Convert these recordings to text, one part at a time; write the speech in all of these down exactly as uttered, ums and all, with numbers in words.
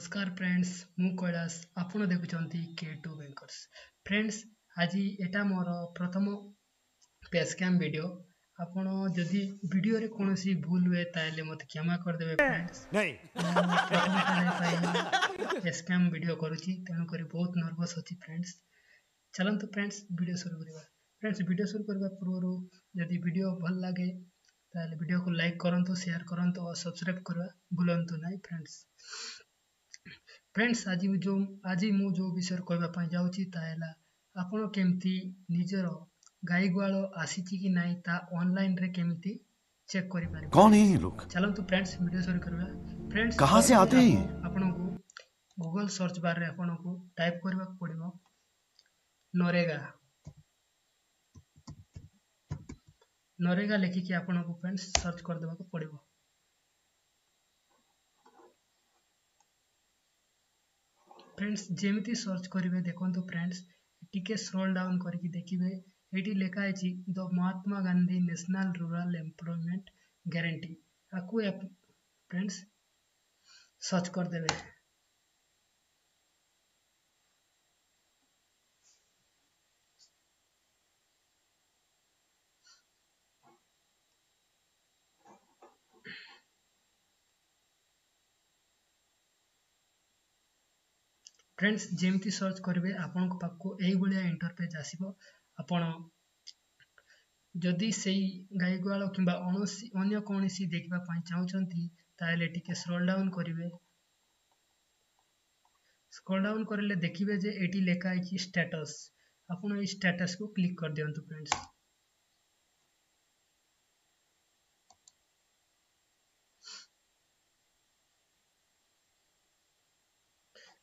ନମସ୍କାର ଫ୍ରେଣ୍ଡସ୍, ମୁଁ କୈଳାସ। ଆପଣ ଦେଖୁଛନ୍ତି କେ ଟୁ ବ୍ୟାଙ୍କର୍ସ। ଫ୍ରେଣ୍ଡସ୍, ଆଜି ଏଟା ମୋର ପ୍ରଥମ ଫେସ୍ କ୍ୟାମ୍ ଭିଡ଼ିଓ। ଆପଣ ଯଦି ଭିଡ଼ିଓରେ କୌଣସି ଭୁଲ ହୁଏ, ତାହେଲେ ମୋତେ କ୍ଷମା କରିଦେବେ। ଫ୍ରେଣ୍ଡସ୍, ମୁଁ ପ୍ରଥମ ଥର ପାଇଁ ଫେସ୍ କ୍ୟାମ୍ ଭିଡ଼ିଓ କରୁଛି, ତେଣୁକରି ବହୁତ ନର୍ଭସ୍ ଅଛି। ଫ୍ରେଣ୍ଡସ୍, ଚାଲନ୍ତୁ ଫ୍ରେଣ୍ଡସ୍, ଭିଡ଼ିଓ ଶୁରୁ କରିବା। ଫ୍ରେଣ୍ଡସ୍, ଭିଡ଼ିଓ ଶୁରୁ କରିବା ପୂର୍ବରୁ ଯଦି ଭିଡ଼ିଓ ଭଲ ଲାଗେ, ତାହେଲେ ଭିଡ଼ିଓକୁ ଲାଇକ୍ କରନ୍ତୁ, ସେୟାର କରନ୍ତୁ ଓ ସବସ୍କ୍ରାଇବ୍ କରିବା ଭୁଲନ୍ତୁ ନାହିଁ। ଫ୍ରେଣ୍ଡସ୍ ଫ୍ରେଣ୍ଡସ୍ ଆଜି ଯେଉଁ ଆଜି ମୁଁ ଯେଉଁ ବିଷୟରେ କହିବା ପାଇଁ ଯାଉଛି, ତାହା ହେଲା ଆପଣ କେମିତି ନିଜର ଗାଈ ଗୁହାଳ ଆସିଛି କି ନାହିଁ, ତା ଅନଲାଇନରେ କେମିତି ଚେକ୍ କରିପାରିବେ। कौन है ये लोग? ଚାଲନ୍ତୁ ଫ୍ରେଣ୍ଡସ୍, ଭିଡ଼ିଓ ଶୁରୁ କରିବା। ଫ୍ରେଣ୍ଡସ୍, कहाँ से आते हैं ये? ଆପଣଙ୍କୁ ଗୁଗଲ ସର୍ଚ୍ଚ ବାରରେ ଆପଣଙ୍କୁ ଟାଇପ୍ କରିବାକୁ ପଡ଼ିବ ନରେଗା। ନରେଗା ଲେଖିକି ଆପଣଙ୍କୁ ଫ୍ରେଣ୍ଡସ୍ ସର୍ଚ୍ଚ କରିଦେବାକୁ ପଡ଼ିବ। ଫ୍ରେଣ୍ଡସ୍, ଯେମିତି ସର୍ଚ୍ଚ କରିବେ, ଦେଖନ୍ତୁ ଫ୍ରେଣ୍ଡସ୍, ଟିକେ ସ୍କ୍ରୋଲ୍ ଡାଉନ୍ କରିକି ଦେଖିବେ, ଏଇଠି ଲେଖା ହେଇଛି the Mahatma Gandhi national rural employment guarantee. ଆକୁ ଫ୍ରେଣ୍ଡସ୍ ସର୍ଚ୍ଚ କରିଦେବେ। ଫ୍ରେଣ୍ଡସ୍, ଯେମିତି ସର୍ଚ୍ଚ କରିବେ, ଆପଣଙ୍କ ପାଖକୁ ଏଇଭଳିଆ ଇଣ୍ଟରଫେସ୍ ଆସିବ। ଆପଣ ଯଦି ସେଇ ଗାଈ ଗୁହାଳ କିମ୍ବା ଅନ୍ୟ କୌଣସି ଦେଖିବା ପାଇଁ ଚାହୁଁଛନ୍ତି, ତାହେଲେ ଟିକେ ସ୍କ୍ରୋଲ୍ ଡାଉନ୍ କରିବେ। ସ୍କ୍ରୋଲ୍ ଡାଉନ୍ କରିଲେ ଦେଖିବେ ଯେ ଏଠି ଲେଖା ହେଇଛି ଷ୍ଟାଟସ୍। ଆପଣ ଏଇ ଷ୍ଟାଟସ୍କୁ କ୍ଲିକ୍ କରିଦିଅନ୍ତୁ। ଫ୍ରେଣ୍ଡସ୍,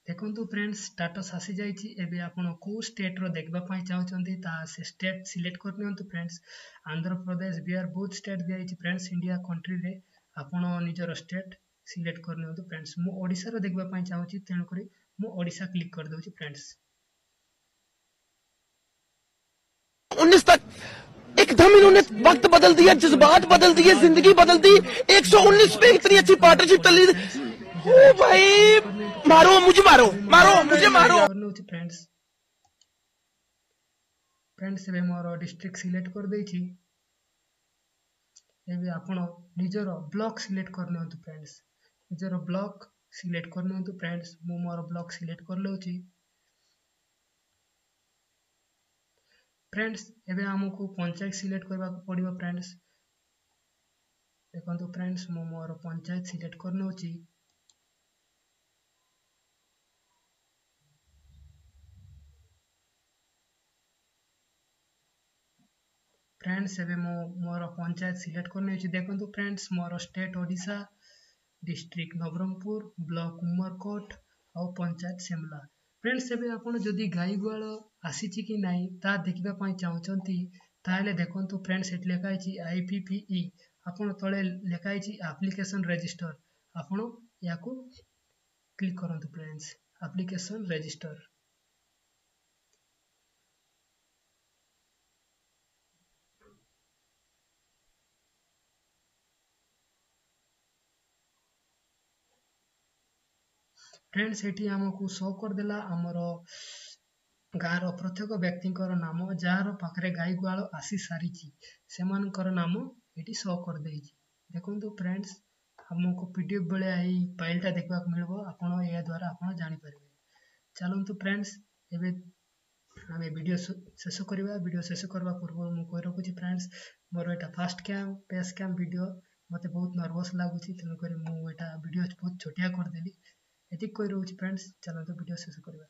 ଦେଖନ୍ତୁ ଫ୍ରେଣ୍ଡସ୍, ଷ୍ଟାଟସ୍ ଆସିଯାଇଛି। ଏବେ ଆପଣ କେଉଁ ଷ୍ଟେଟ୍ର ଦେଖିବା ପାଇଁ ଚାହୁଁଛନ୍ତି, ତାହା ସେ ଷ୍ଟେଟ୍ ସିଲେକ୍ଟ କରିନିଅନ୍ତୁ। ଫ୍ରେଣ୍ଡସ୍, ଆନ୍ଧ୍ରପ୍ରଦେଶ, ବିହାର, ବହୁତ ଷ୍ଟେଟ୍ ଦିଆଯାଇଛି। ଫ୍ରେଣ୍ଡସ୍, ଇଣ୍ଡିଆ କଣ୍ଟ୍ରିରେ ଆପଣ ନିଜର ଷ୍ଟେଟ୍ ସିଲେକ୍ଟ କରିନିଅନ୍ତୁ। ଫ୍ରେଣ୍ଡସ୍, ମୁଁ ଓଡ଼ିଶାର ଦେଖିବା ପାଇଁ ଚାହୁଁଛି, ତେଣୁକରି ମୁଁ ଓଡ଼ିଶା କ୍ଲିକ୍ କରିଦେଉଛି। ଫ୍ରେଣ୍ଡସ୍, उन्नीस तक एकदम इन्होंने वक्त बदल दिया, जज्बात बदल दिए, जिंदगी बदल दी। एक सौ उन्नीस पे इतनी अच्छी पार्टनरशिप चली। ओ भाई, मारो मुझे, मारो, मारो मुझे, मारो। କରିନେଉଛି। ଫ୍ରେଣ୍ଡସ୍ ଫ୍ରେଣ୍ଡସ୍ ଏବେ ମୋର ଡିଷ୍ଟ୍ରିକ୍ଟ ସିଲେକ୍ଟ କରିଦେଇଛି। ଏବେ ଆପଣ ନିଜର ବ୍ଲକ୍ ସିଲେକ୍ଟ କରିନିଅନ୍ତୁ। ଫ୍ରେଣ୍ଡସ୍, ନିଜର ବ୍ଲକ୍ ସିଲେକ୍ଟ କରିନିଅନ୍ତୁ। ଫ୍ରେଣ୍ଡସ୍, ମୁଁ ମୋର ବ୍ଲକ୍ ସିଲେକ୍ଟ କରିନେଉଛି। ଫ୍ରେଣ୍ଡସ୍, ଏବେ ଆମକୁ ପଞ୍ଚାୟତ ସିଲେକ୍ଟ କରିବାକୁ ପଡ଼ିବ। ଫ୍ରେଣ୍ଡସ୍, ଦେଖନ୍ତୁ ଫ୍ରେଣ୍ଡସ୍, ମୁଁ ମୋର ପଞ୍ଚାୟତ ସିଲେକ୍ଟ କରିନେଉଛି। ଫ୍ରେଣ୍ଡସ୍, ଏବେ ମୁଁ ମୋର ପଞ୍ଚାୟତ ସିଲେକ୍ଟ କରିନେଇଛି। ଦେଖନ୍ତୁ ଫ୍ରେଣ୍ଡସ୍, ମୋର state Odisha, district Nabarangpur, block Umerkote ଆଉ ପଞ୍ଚାୟତ ସେମଲା। ଫ୍ରେଣ୍ଡସ୍, ଏବେ ଆପଣ ଯଦି ଗାଈ ଗୁହାଳ ଆସିଛି କି ନାହିଁ ତାହା ଦେଖିବା ପାଇଁ ଚାହୁଁଛନ୍ତି, ତାହେଲେ ଦେଖନ୍ତୁ ଫ୍ରେଣ୍ଡସ୍, ଏଠି ଲେଖା ହେଇଛି I P P E. ଆପଣ ତଳେ ଲେଖା ହେଇଛି ଆପ୍ଲିକେସନ୍ ରେଜିଷ୍ଟର। ଆପଣ ଏହାକୁ କ୍ଲିକ୍ କରନ୍ତୁ। Friends, application register. ଫ୍ରେଣ୍ଡସ୍, ଏଠି ଆମକୁ ଶୋ କରିଦେଲା ଆମର ଗାଁର ପ୍ରତ୍ୟେକ ବ୍ୟକ୍ତିଙ୍କର ନାମ। ଯାହାର ପାଖରେ ଗାଈ ଗୁହାଳ ଆସି ସାରିଛି, ସେମାନଙ୍କର ନାମ ଏଠି ଶୋ କରିଦେଇଛି। ଦେଖନ୍ତୁ ଫ୍ରେଣ୍ଡସ୍, ଆମକୁ ପି ଡି ଏଫ୍ ଭଳିଆ ଏଇ ଫାଇଲ୍ଟା ଦେଖିବାକୁ ମିଳିବ। ଆପଣ ଏହା ଦ୍ୱାରା ଆପଣ ଜାଣିପାରିବେ। ଚାଲନ୍ତୁ ଫ୍ରେଣ୍ଡସ୍, ଏବେ ଆମେ ଭିଡ଼ିଓ ଶେଷ କରିବା। ଭିଡ଼ିଓ ଶେଷ କରିବା ପୂର୍ବରୁ ମୁଁ କହି ରଖୁଛି ଫ୍ରେଣ୍ଡସ୍, ମୋର ଏଇଟା first cam face cam video. ମୋତେ ବହୁତ ନର୍ଭସ୍ ଲାଗୁଛି, ତେଣୁକରି ମୁଁ ଏଇଟା ଭିଡ଼ିଓ ବହୁତ ଛୋଟିଆ କରିଦେଲି। ଏତିକି କହି ରହୁଛି ଫ୍ରେଣ୍ଡସ୍, ଚାଲନ୍ତୁ ଭିଡ଼ିଓ ଶେଷ କରିବା।